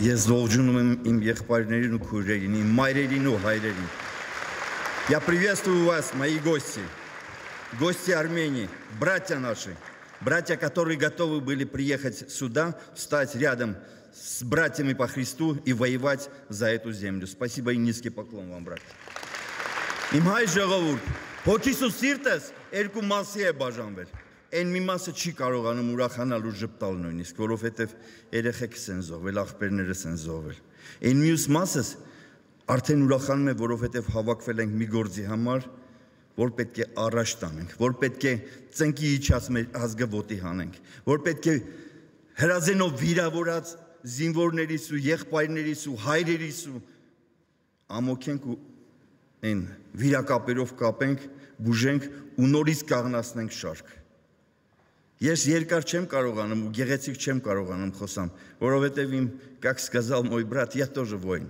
Ես ողջունում եմ իմ եղբայրներին ու քույրերին, իմ մայրերին ու հայրերին. Я приветствую вас, мои гости Армении, братья наши, братья, которые готовы были приехать сюда, встать рядом с братьями по Христу и воевать за эту землю. Спасибо и низкий поклон вам, брат. Իմ հայ ժողովուրդ, հոգիս ու սիրտս երկու մասի է բաժանվել. Այն մի մասը չի կարողանում ուրախանալ ու ժպտալ նույնիսկ, որովհետև երեխեքս են զոհվել, աղբերներս են զոհվել. Այն մյուս մասս արդեն ուրախանում է, որովհետև հավաքվել ենք մի գործի համար, որ պետք է առաջ տանենք, որ պետք է ծնկի իջած մեր ազգը ոտի հանենք, որ պետք է հրազենով վիրավորած զինվորներից ու եղբայրներից ու հայրերից ու ամոքենք ու այն վիրակապերով կապենք, բուժենք ու նորից կաղնացնենք շարք. Ես երկար չեմ կարողանում ու գեղեցիկ չեմ կարողանում խոսամ, որովհետև իմ, как сказал мой брат, я тоже воин.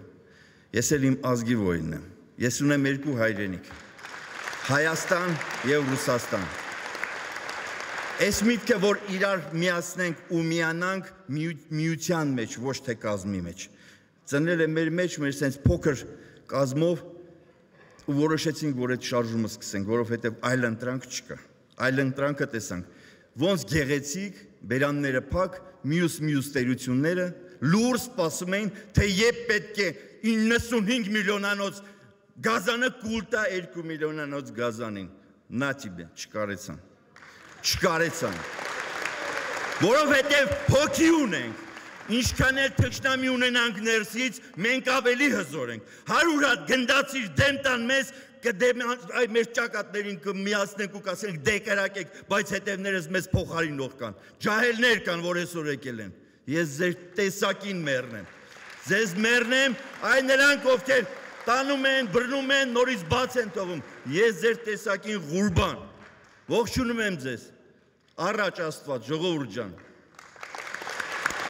Ես էլ իմ ազգի воինն եմ. Ես ունեմ երկու հայրենիք. Հայաստան եւ Ռուսաստան. Այս միտքը, որ իրար միացնենք ու միանանք միության մեջ, ոչ թե կազմի մեջ. Ծնել է մեր մեջ մեր sense փոքր կազմով ու որոշեցինք, որ այդ շարժումը սկսենք, որովհետև այլ ընտրանք չկա։ Այլ ընտրանքը տեսանք, ոնց գեղեցիկ, բերանները փակ, մյուս տերությունները լուր սպասում էին, թե երբ պետք է 95 միլիոնանոց գազանը կուլ տա 2 միլիոնանոց գազանին։ Նա տիբե, չկարեցան։ Որովհետև հոգի ունենք, ինչքան էլ թշնամի ունենանք ներսից, մենք ավելի հզոր ենք։ 100 հատ գնդացիր դեմ տան մեզ, մեր ճակատներին կմիացնենք ու կասենք դե կրակեք, բայց հետևներս մեզ փոխարինող կան։ Ջահելներ կան, որ այսօր եկել են։ Ես ձեր տեսակին մեռնեմ։ Ձեզ մեռնեմ, այ նրանք, ովքեր տանում են, բռնում են, նորից բաց են թողում։ Ես ձեր տեսակին Ղուրբան։ Ողջունում եմ ձեզ։ Առաջ Աստված, ժողովուրդ ջան։